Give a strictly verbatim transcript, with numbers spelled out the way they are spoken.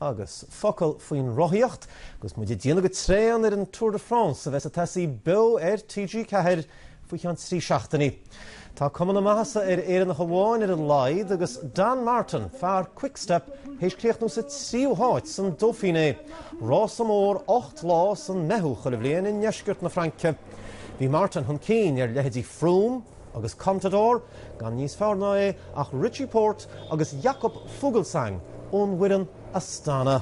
Agus focal faoin rothaíocht, agus muid ag déanamh go tréan ar an Tour de France a bheas ag tosaí beo ar T G Ceathair faoi cheann trí seachtainí. Tá cuma na maitheasa ar Éireannach amháin ar a laghad agus Dan Martin, fear Quickstep, théis críochnú sa tríú háit san Dauphiné. Rása mór ocht lá san Meitheamh chuile bhliain i ndeisceart na Fraince. Bhí Martin chun cinn ar leithéidí Froome agus Contador, gan níos fearr ná é ach Richie Porte agus Jakob Fuglsang ón bhfoireann Astana.